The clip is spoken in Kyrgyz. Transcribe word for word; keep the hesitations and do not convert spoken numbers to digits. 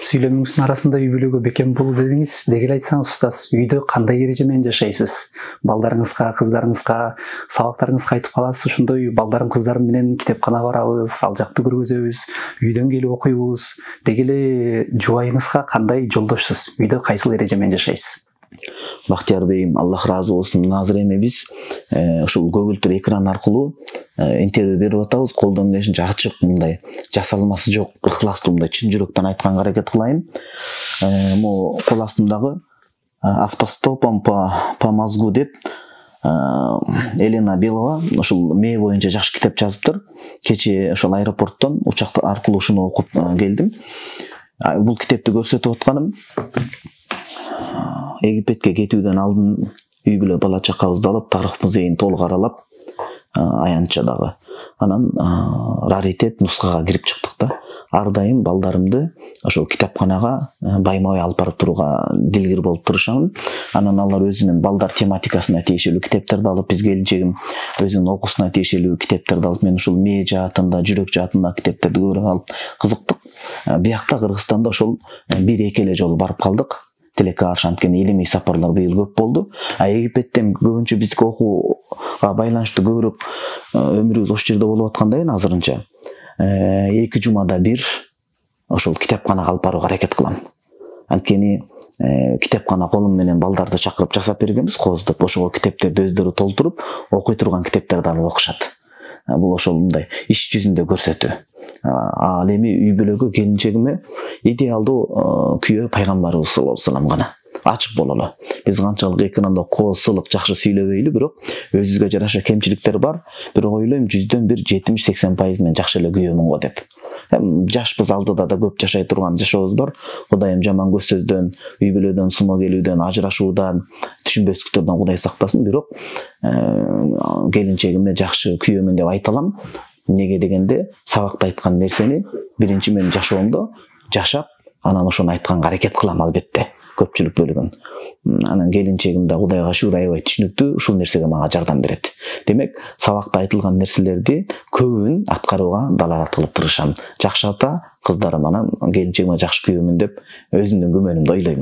Сүйлөмүңүздүн арасында үй бүлөгө бекем болуу дедиңиз. Деги эле айтсаңыз устаз, үйдө кандай эреже менен жашайсыз? Балдарыңызга, кыздарыңызга, сабактарыңызга айтып каласыз, ошондой балдарым, кыздарым менен китепканага барабыз, ал жакты көргүзөбүз, үйдөн келип окуйбуз. Деги эле жубайыңызга кандай жолдошсуз? Үйдө кайсыл эреже менен жашайсыз? Бактияр Бейим, Аллах ыраазы болсун. Азыр эми биз ушул көгүлтүр экран аркылуу интервью берип атабыз. Колдон келишинче ачык, мындай жасалмасы жок, ыхластуу, мындай чын жүрөктөн айтканга аракет кылайын. Могу кол астымдагы автостопом по по мозгу деп Елена Белова ушул мээ боюнча жакшы китеп жазыптыр. Кечээ ошол аэропорттон учак аркылуу ушуну окуп келдим. Бул китепти көрсөтүп атканым Египетке кетүүдөн алдын үй бүлө бала чакабызды алып, тарых музейин толук аралап, аянтча дагы. Анан раритет нускага кирип чыктык да. Ар дайым балдарымды ошол китапканага байма-бай алып барып турууга дилгир болуп тырышамын. Анан алар өзүнүн балдар тематикасына тиешелүү китептерди алып, биз келинчегим өзүнүн окуусуна тиешелүү китептерди алып, мен ушул мээ жаатында, жүрөк жаатында китептерди көбүрөөк алып кызыктык. Биякта Кыргызстанда ошол бир-эки эле жолу барып калдык. Тилекке каршы анткени илимий сапарлар быйыл көп болду. А Египетте көбүнчө биздики окууга байланыштуу көбүрөөк өмүрүбүз ошол жерде болуп аткандан кийин азырынча эки жумада бир ошол китепканага алып барууга аракет кылам. Анткени китепкана колум менен балдарды чакырып жасап бергенбиз, кооздоп. Ошого китептерди өздөрү толтуруп, окуй турган китептерди алып окушат. Бул ошол мындай иш жүзүндө көрсөтүү. Ал эми үй бүлөгө келинчегиме идеалдуу күйөө пайгамбарыбыз саллаллаху алейхи вассалам гана ачык бололу. Биз канчалык экранда кооз, сылык жакшы сүйлөбөйлү, бирок өзүбүзгө жараша кемчиликтер бар. Бирок ойлойм жүздөн бир жетимиш сексен пайыз мен жакшы эле күйөөмүн го деп. Жашпыз, алдыда да көп жашай турган жашообуз бар. Кудайым жаман көз сөздөн, үй бүлөдөн суноо келүүдөн, ажырашуудан, түшүнбөстүктөрдөн Кудай сактасын. Бирок келинчегиме жакшы күйөөмүн деп айта алам. Неге дегенде, сабакта айткан нерсени биринчи мен жашоомдо жашап, анан ошону айтканга аракет кылам албетте, көпчүлүк бөлүгүн. Анан келинчегим да Кудайга шүгүр аябай түшүнүктүү, ушул нерсеге мага жардам берет. Демек, сабакта айтылган нерселерди көбүн аткарууга далалат кылып тырышам. Жакшы ата, кыздарым, анан келинчегиме жакшы күйөөмүн деп өзүмдүн күмөнүмдү ойлоймун.